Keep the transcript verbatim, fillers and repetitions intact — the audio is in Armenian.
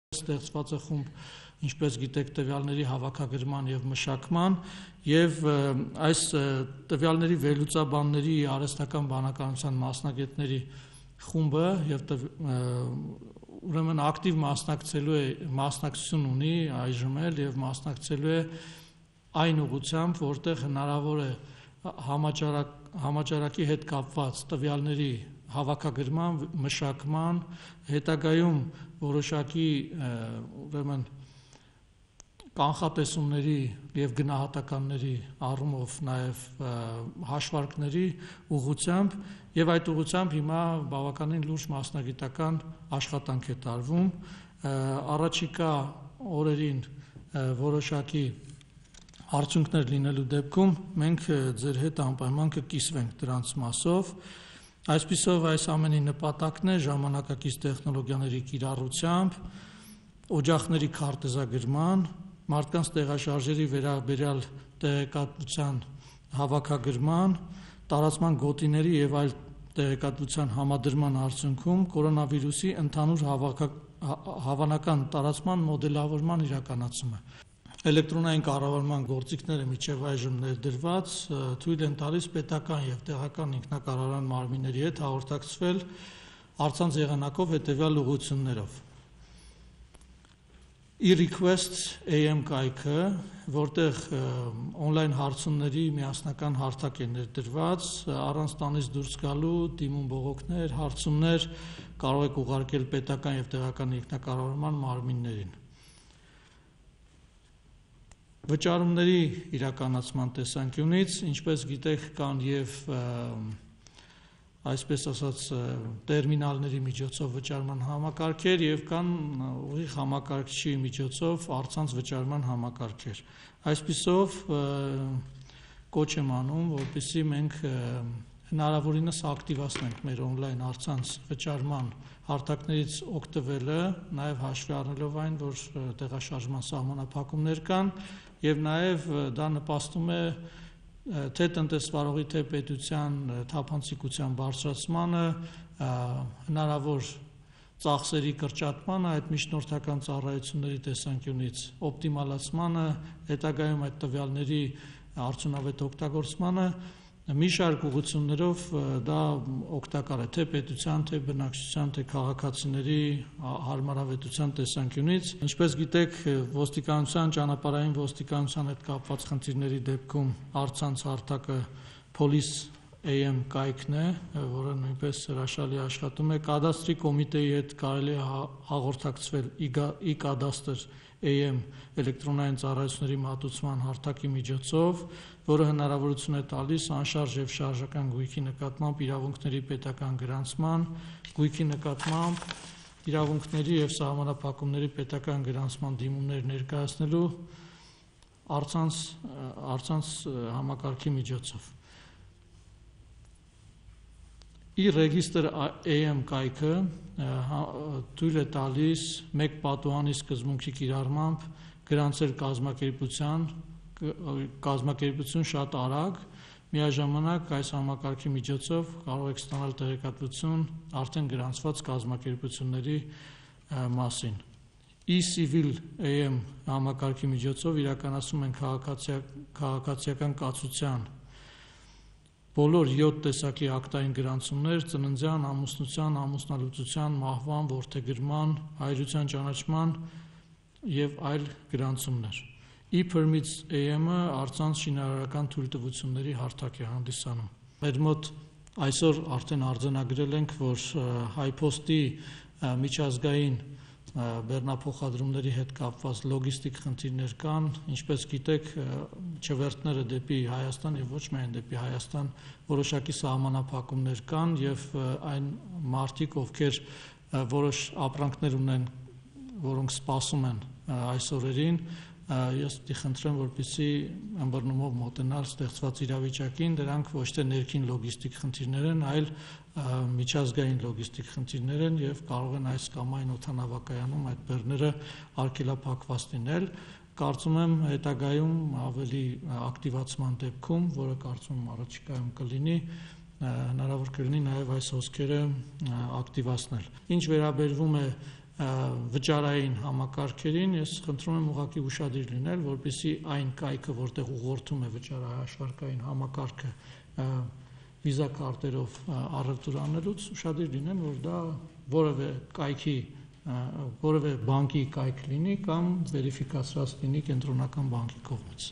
Ստեղծված է խումբ, ինչպես գիտեք, տվյալների հավաքագրման եւ մշակման եւ այս տվյալների վերլուծաբանների արհեստական բանականության մասնագետների խումբը եւ ուրեմն ակտիվ մասնակցելու է մասնակցություն ունի այժմ էլ եւ մասնակցելու է այն ուղղությամբ, որտեղ հնարավոր է համաճարակ համաճարակի հետ կապված տվյալների հավաքագրման, մշակման, հետագայում որոշակի ուրեմն կանխատեսումների եւ գնահատականների առումով նաեւ հաշվարկների ուղղությամբ եւ այդ ուղղությամբ հիմա բավականին լուրջ մասնագիտական աշխատանք է տարվում առաջիկա օրերին որոշակի արդյունքներ լինելու դեպքում մենք ձեր հետ անպայման կկիսվենք դրանց մասով Այսպիսով այս ամենի նպատակն է ժամանակակից տեխնոլոգիաների կիրառությամբ, օջախների քարտեզագրման, մարդկանց տեղաշարժերի վերաբերյալ տեղեկատվության հավաքագրման, տարածման գոտիների եւ այլ տեղեկատվության համադրման արդյունքում կորոնավիրուսի ընդհանուր հավանական տարածման մոդելավորման իրականացումը։ Էլեկտրոնային կառավարման գործիքները միջև այժմ ներդրված թույլ են տալիս պետական եւ տեղական ինքնակառավարման մարմինների հետ հաղորդակցվել առցանց եղանակով հետեւյալ ուղղություններով։ e-request A M կայքը, որտեղ on-line հարցումների միասնական հարթակ է ներդրված, առանց տանից դուրս գալու դիմում բողոքներ, հարցումներ կարող եք ուղարկել պետական եւ տեղական ինքնակառավարման մարմիններին։ Վճարումների իրականացման տեսանկյունից, ինչպես գիտեք, կան եւ այսպես ասած տերմինալների միջոցով վճարման համակարգեր եւ կան ուղիղ համակարգչի միջոցով առցանց վճարման համակարգեր։ Այսպիսով կոչ եմ անում, որպեսզի մենք հնարավորինս ակտիվացնենք մեր on-line առցանց վճարման հարթակներից օգտվելը, նաեւ հաշվի առնելով այն, որ տեղաշարժման սահմանափակումներ կան եւ նաեւ դա նպաստում է թե տնտեսվարողի թե պետության թափանցիկության բարձրացմանը, հնարավոր ծախսերի կրճատմանը, այդ միջնորդական ծառայությունների տեսանկյունից օպտիմալացմանը, հետագայում այդ տվյալների արդյունավետ օգտագործմանը մի շարք ուղղություններով դա օգտակար է թե պետության, թե բնակչության, թե քաղաքացիների հարմարավետության տեսանկյունից։ Ինչպես գիտեք, ոստիկանության, ճանապարհային ոստիկանության հետ կապված խնդիրների դեպքում առցանց հարթակը Police A M կայքն է, որը նույնպես հրաշալի աշխատում է։ Կադաստրի կոմիտեի հետ կարելի է հաղորդակցվել e-կադաստր A M էլեկտրոնային ծառայությունների մատուցման հարթակի միջոցով, որը հնարավորություն է տալիս անշարժ եւ շարժական գույքի նկատմամբ իրավունքների պետական գրանցման, գույքի նկատմամբ իրավունքների եւ սահմանափակումների պետական գրանցման դիմումներ ներկայացնելու առցանց առցանց համակարգի միջոցով։ E-Register A M կայքը թույլ է տալիս մեկ պատուհանի սկզբունքի կիրառմամբ գրանցել կազմակերպության կազմակերպություն շատ արագ, միաժամանակ այս համակարգի միջոցով կարող եք ստանալ տեղեկատվություն արդեն գրանցված կազմակերպությունների մասին։ E-Civil A M համակարգի միջոցով իրականացում են քաղաքացիական կացության բոլոր յոթ տեսակի ակտային գրանցումներ ծննդյան, ամուսնության, ամուսնալուծության, մահվան, որդեգրման, հայրության ճանաչման եւ այլ գրանցումներ։ E-Permits A M-ը առցանց շինարարական թույլտվությունների հարթակ է հանդիսանում։ Մեր մոտ այսօր արդեն արձանագրել ենք, որ Հայփոստի միջազգային բեռնափոխադրումների հետ կապված լոգիստիկ խնդիրներ կան, ինչպես գիտեք, չվերթները դեպի Հայաստան եւ ոչ միայն դեպի Հայաստան որոշակի սահմանափակումներ կան եւ այն մարդիկ, ովքեր որոշ ապրանքներ ունեն, որոնք սպասում են այս օրերին, ես դիխնդրեմ, որպեսզի ըմբռնումով մոտենալ ստեղծված իրավիճակին, դրանք ոչ թե ներքին լոգիստիկ խնդիրներ են, այլ միջազգային լոգիստիկ խնդիրներ են եւ կարող են այս կամ այն օդանավակայանում այդ բեռները արգելափակված լինել։ Կարծում եմ հետագայում ավելի ակտիվացման դեպքում, որը կարծում եմ առաջիկայում կլինի, հնարավոր կլինի նաև այս հոսքերը ակտիվացնել։ Ինչ վերաբերվում է վճարային համակարգերին, ես խնդրում եմ ուղղակի ուշադիր լինել, որպեսզի այն կայքը, որտեղ ուղղորդում է վճարահաշվարկային համակարգը վիզա քարտերով առևտուր անելուց, ուշադիր լինեն, որ դա որևէ կայքի, որևէ բանկի կայք լինի կամ վերիֆիկացված լինի կենտրոնական բանկի կողմից։